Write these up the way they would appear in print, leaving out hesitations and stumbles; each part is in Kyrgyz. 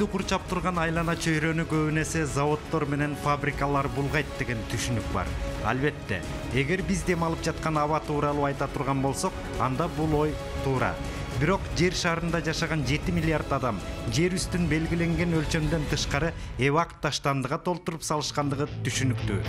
Бизди курчап турган айлана чөйрөнү көбүнесе заводдор менен фабрикалар булгайт деген түшүнүк бар. Албетте, эгер биз дем алып жаткан аба тууралуу айта турган болсок, анда бул ой туура. Бирок жер шарында жашаган 7 миллиард адам жер үстүн белгиленген өлчөмдөн тышкары эвак таштандыга толтуруп салышкандыгы түшүнүктүү.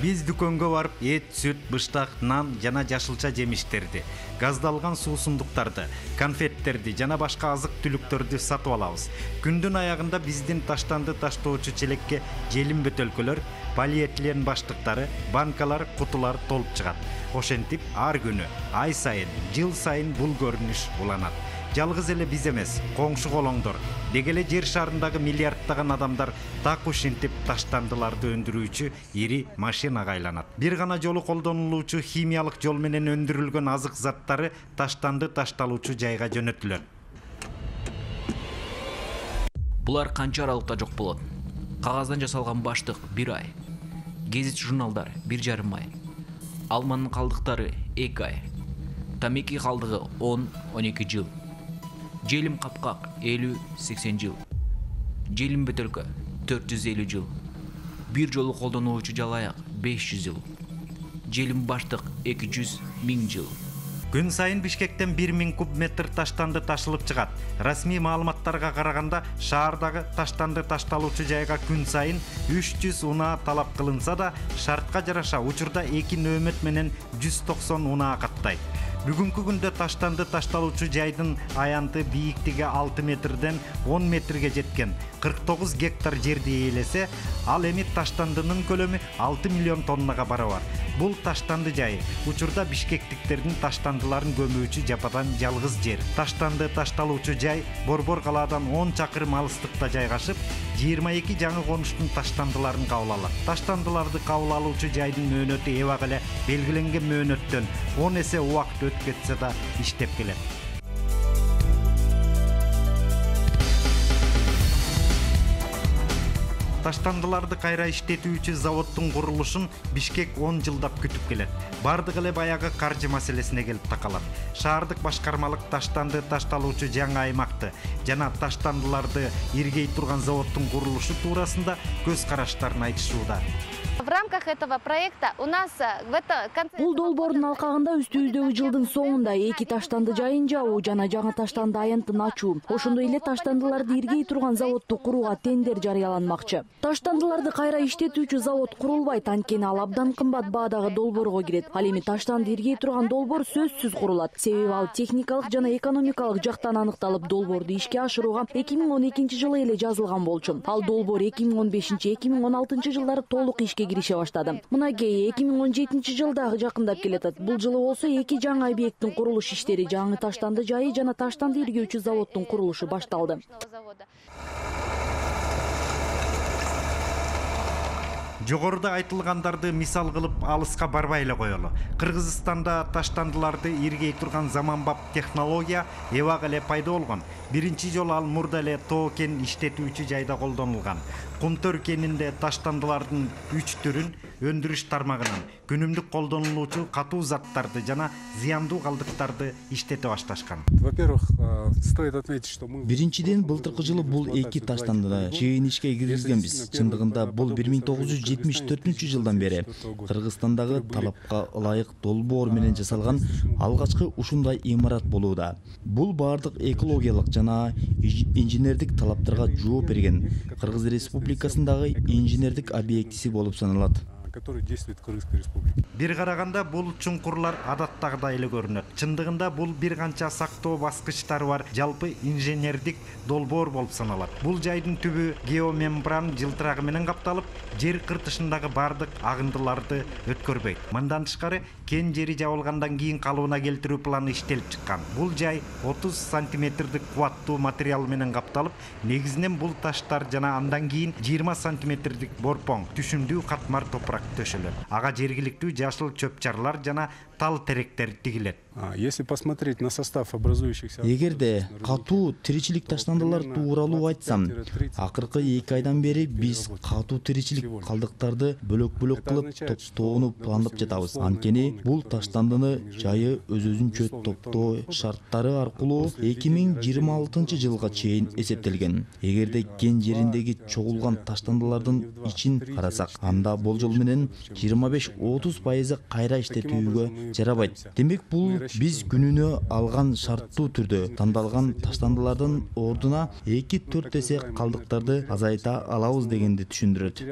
Биз дүкөнгө барып эт, сүт, быштак, нан жана жашылча жемиштерди, газдалган суусундуктарды, конфеттерди жана башка азык-түлүктөрдү сатып алабыз. Күндүн аягында биздин таштанды таштоочу челекке желим бөтөлкөлөр, полиэтилен баштыктары, банкалар, кутулар толуп чыгат. Ошентип ар күнү, ай сайын, жыл сайын бул көрүнүш уланат. Жалгыз эле биз эмес, коңшу колоңдор, деги эле жер шарындагы миллиарддаган адамдар так ушинтип таштандыларды өндүрүүчү ири машинага айланат. Бир гана жолу колдонулуучу химиялык жол менен өндүрүлгөн азык заттары таштанды ташталуучу жайга жөнөтүлөт. Булар канча аралыкта жок болот? Кагаздан жасалган баштык 1 ай, гезит журналдар 1,5 ай, алманын калдыктары 2 ай, тамеки калдыгы 10-12 жыл, желим капкак 50-80 жыл, желим бөтөлкө 450 жыл, бир жолу колдонулуучу жалаяк 500 жыл, желим баштык 200-1000 жыл. Күн сайын Бишкектен 1000 куб метр таштанды ташылып чыгат. Расмий маалыматтарга караганда, шаардагы таштанды ташталуучу жайга күн сайын 300 унаа талап кылынса да, шартка жараша учурда 2 нөөмөт менен 190 унаа каттайт. Бүгүнкү күндө таштанды ташталуучу жайдын аянты бийиктиги 6 метрден 10 метрге жеткен 49 гектар жерди ээлесе, ал эми таштандынын көлөмү 6 миллион тоннага барабар. Бул таштанды жайы учурда бишкектиктердин таштандыларын көмүүчү жападан жалгыз жер. Таштанды ташталуучу жай Борбор калаадан 10 чакырым алыстыкта жайгашып, 22 жаңы конуштун таштандыларын кабыл алат. Таштандыларды кабыл алуучу жайдын мөөнөтү эбак эле белгиленген мөөнөттөн 10 эсе убакыт өтүп кетсе да иштеп келет. Таштандыларды кайра иштетүүчү заводдун курулушун Бишкек 10 жылдап күтүп келет. Бардык эле баягы каржы маселесине келип такалат. Шаардык башкармалык таштанды ташталуучу жаңы аймакты жана таштандыларды иргей турган заводдун курулушу туурасында көз караштарын айтышууда. В рамках этого проекта у нас бул долбоордун алкагында үстүбүздөгү жылдын соңунда 2 таштанды жайын жабуу жана жаңы таштанды аянтын ачуу, ошондой эле таштандыларды иргей турган заводду курууга тендер жарыяланмакчы. Таштандыларды кайра иштетүүчү завод курулбайт, анткени ал абдан кымбат баадагы долбоорго кирет. Ал эми таштанды иргей турган долбоор сөзсүз курулат. Себеби ал техникалык жана экономикалык жактан аныкталып, долбоорду ишке ашырууга 2012 жылы эле жазылган болчу. Ал долбоор 2015-2016 жылдары толук ишке кирише баштады. Мынакей 2017 жылда жакындап келатат. Бул жылы болсо 2 жаңы объекттин курулуш иштери, жаңы таштанды жайы жана таштанды иргөөчү заводдун курулушу башталды. Жогоруда айтылгандарды мисал кылып алыска барбай эле коелу. Кыргызстанда таштандыларды иргей турган заманбап технология эбак эле пайда болгон. Биринчи жолу ал мурда эле тоо кен иштетүүчү жайда колдонулган. Кумтөр кенинде таштандылардын 3 түрүн өндүрүш тармагынан күнүмдүк колдонулуучу катуу заттарды жана зыяндуу калдыктарды иштете башташкан. Во-первых, стоит отметить, что мы биринчиден былтыркы жылы бул 2 таштандыны чейин ишке киргизгенбиз. Чындыгында бул 1974 жылдан бери Кыргызстандагы талапка ылайык долбоор менен жасалган алгачкы ушундай имарат болууда. Бул бардык экологиялык жана инженердик талаптарга жооп берген Кыргыз Республикасындагы инженердик объектиси болуп саналат. который действует в Кыргызской республике. Бир караганда бул чуңкурлар адаттагыдай эле көрүнөт. Чындыгында бул бир канча сактоо баскычтары бар жалпы инженердик долбоор болуп саналат. Бул жайдын түбү геомембран жылтырагы менен капталып, жер кыртышындагы бардык агындыларды өткөрбөйт. Мындан тышкары кен жери жабылгандан кийин калыбына келтирүү планы иштелип чыккан. Бул жай 30 сантиметрдик кубаттуу материал менен капталып, негизинен бул таштар жана андан кийин 20 сантиметрдик борпоң, түшүмдүү катмар топурак төшөлөт. Ага жергиликтүү жашыл чөп-чарлар жана тал теректер тигилет. Если посмотреть на состав образующихся... Эгерде катуу тиричилик таштандылар тууралуу айтсам, акыркы 2 айдан бери биз катуу тиричилик калдыктарды бөлөк-бөлөк кылып топтоону пландап жатабыз. Анткени бул таштандыны жайы өзүнчө топтоо шарттары аркылуу 2026 жылга чейин эсептелген. Эгерде кен жериндеги чогулган таштандылардын ичин карасак, анда болжол менен 25-30% кайра иштетүүгө жарабайт. Демек бул биз күнүнө алган шарттуу түрдө тандалган таштандылардын ордуна 2-4 эсе калдыктарды азайта алабыз дегенди түшүндүрөт.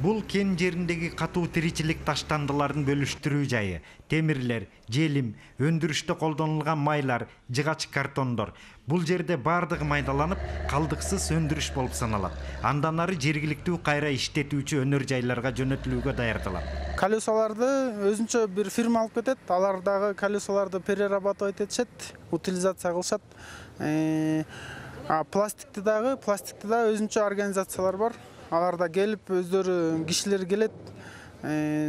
Бул кен жериндеги катуу тиричилик таштандыларын бөлүштүрүү жайы темирлер, желим, өндүрүштө колдонулган майлар, жыгач картондор. Бул жерде бардыгы майдаланып, калдыксыз өндүрүш болуп саналат. Андан ары жергиликтүү кайра иштетүүчү өнөр жайларга жөнөтүлүүгө даярдалат. Колесоларды өзүнчө бир фирма алып кетет. Алар дагы колесоларды перерабатывать этишет, утилизация кылышат. Пластикти да өзүнчө организациялар бар. Алар да келип өздөрү кишилер келет,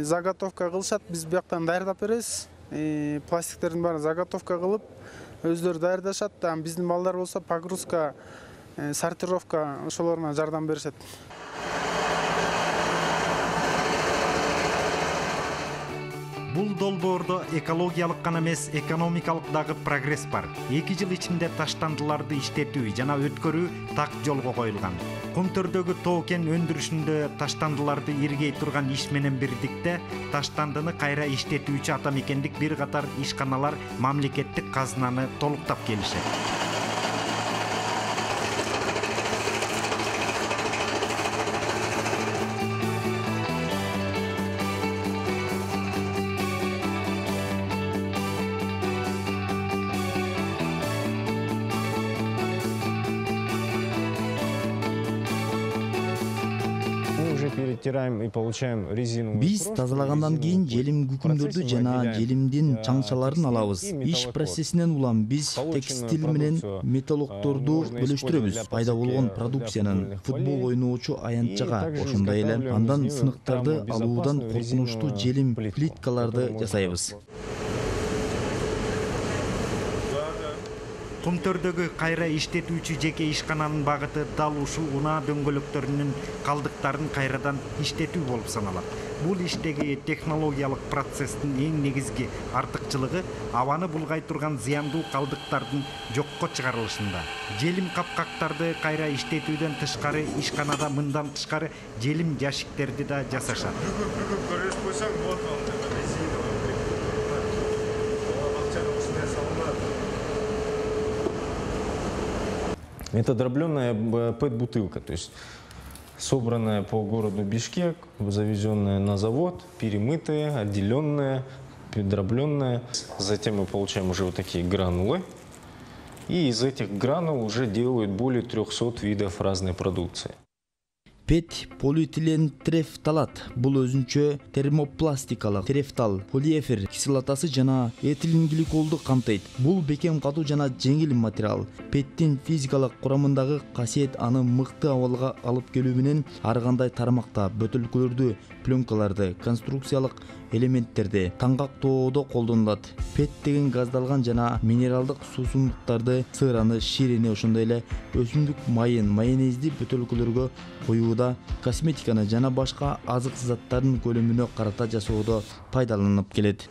заготовка кылышат. Биз бияктан даярдап беребиз. Пластиктердин баарын заготовка кылып өздөрү даярдашат. Биздин балдар болсо погрузка, сортировка ошолоруна жардам беришет. Бул долбоордо экологиялык гана эмес, экономикалык дагы прогресс бар. 2 жыл ичинде таштандыларды иштетүү жана өткөрүү так жолго коюлган. Кумтөрдөгү тоо кен өндүрүшүндө таштандыларды иргей турган иш менен бирдикте таштандыны кайра иштетүүчү ата мекендик бир катар ишканалар мамлекеттик казынаны толуктап келишет. Биз тазалагандан кийин желим күкүмдөрдү жана желимдин чаңчаларын алабыз. Иш процессинен улам биз текстиль менен металлокторду бөлүштүрөбүз. Пайда болгон продукциянын футбол ойноочу аянтчага, ошондой эле андан сыныктарды алуудан коркунучтуу желим плиткаларды жасайбыз. Кумтөрдөгү кайра иштетүүчү жеке ишкананын багыты дал ушул унаа дөңгөлөктөрүнүн калдыктарын кайрадан иштетүү болуп саналат. Бул иштеги технологиялык процесстин эң негизги артыкчылыгы абаны булгай турган зыяндуу калдыктардын жокко чыгарылышында. Желим капкактарды кайра иштетүүдөн тышкары ишканада мындан тышкары желим жашиктерди да жасашат. Это дробленная ПЭТ-бутылка, то есть собранная по городу Бишкек, завезенная на завод, перемытая, отделенная, дробленная. Затем мы получаем уже вот такие гранулы. И из этих гранул уже делают более 300 видов разной продукции. ПЭТ полиэтилен трефталат. Бул өзүнчө термопластикалык трефтал, полиэфир кислотасы жана этилен гликолду камтыйт. Бул бекем катуу жана жеңил материал. ПЭТтин физикалык курамындагы касиет аны мыкты абалга алып келүү менен ар кандай тармакта бөтөлкөлөрдү, пленкаларды, конструкциялык элементтерди таңгактоодо колдонулат. ПЭТ деген газдалган жана минералдык суусундуктарды, сыраны, ширини, ошондой эле өсүмдүк майын, майонезди бөтөлкөлөргө коюуда, косметиканы жана башка азык заттардын көлөмүнө карата жасоодо пайдаланылып келет.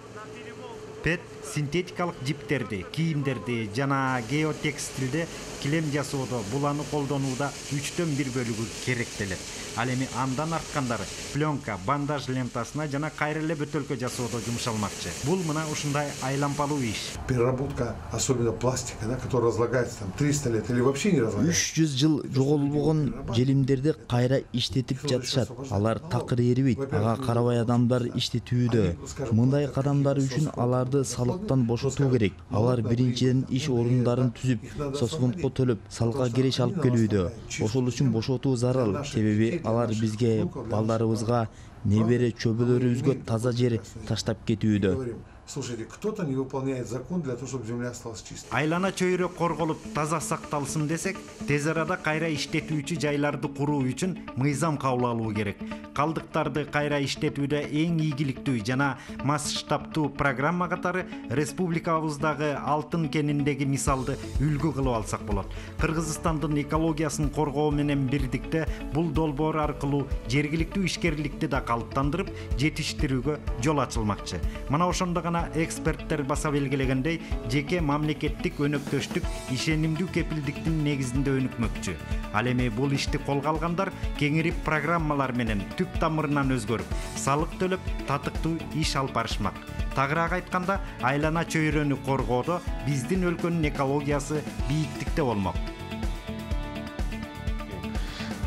ПЭТ синтетикалык жиптерди, кийимдерди жана геотекстилде килем жасоодо буланы колдонууда 1/3 бөлүгү керектелет. Ал эми андан арткандары пленка, бандаж лентасына жана кайра эле бөтөлкө жасоодо жумшалмакчы. Бул мына ушундай айлампалуу иш. Переработка, особенно пластика, которая разлагается 300 лет или вообще не разлагается. 300 жыл жоголбогон желимдерди кайра иштетип жатышат. Алар такыр эрибейт. Ага карабай адамдар иштетүүдө. Мындай кадамдар үчүн аларды салыктан бошотуу керек. Алар биринчиден иш орундарын түзүп, соцфондко төлөп, салыкка киреш алып келүүдө. Ошол үчүн бошотуу зарыл. Себеби алар бизге, балдарыбызга, небере чөбөлөрүбүзгө таза жер таштап кетүүдө. слушайте, кто-то не выполняет закон для того, чтобы земля осталась чистой. Айлана чөйрө корголуп таза сакталсын десек, тез арада кайра иштетүүчү жайларды куруу үчүн мыйзам кабыл алуу керек. Калдыктарды кайра иштетүүдө эң ийгиликтүү жана масштабтуу программа катары республикабыздагы Алтын кениндеги мисалды үлгү кылып алсак болот. Кыргызстандын экологиясын коргоо менен бирдикте бул долбоор аркылуу жергиликтүү ишкерликти да калыптандырып, жетиштирүүгө жол ачылмакчы. Мына ошондо гана эксперттер баса белгилегендей, жеке мамлекеттик өнөктөштүк ишенимдүү кепилдиктин негизинде өнүкмөкчү. Ал эми бул ишти колго алгандар кеңирип программалар менен түп тамырынан өзгөрүп, салык төлөп, татыктуу иш алып барышмак. Тагыраак айтканда, айлана чөйрөнү коргоодо биздин өлкөнүн экологиясы бийиктикте болмок.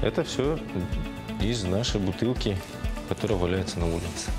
Это все из нашей бутылки, которая валяется на улице.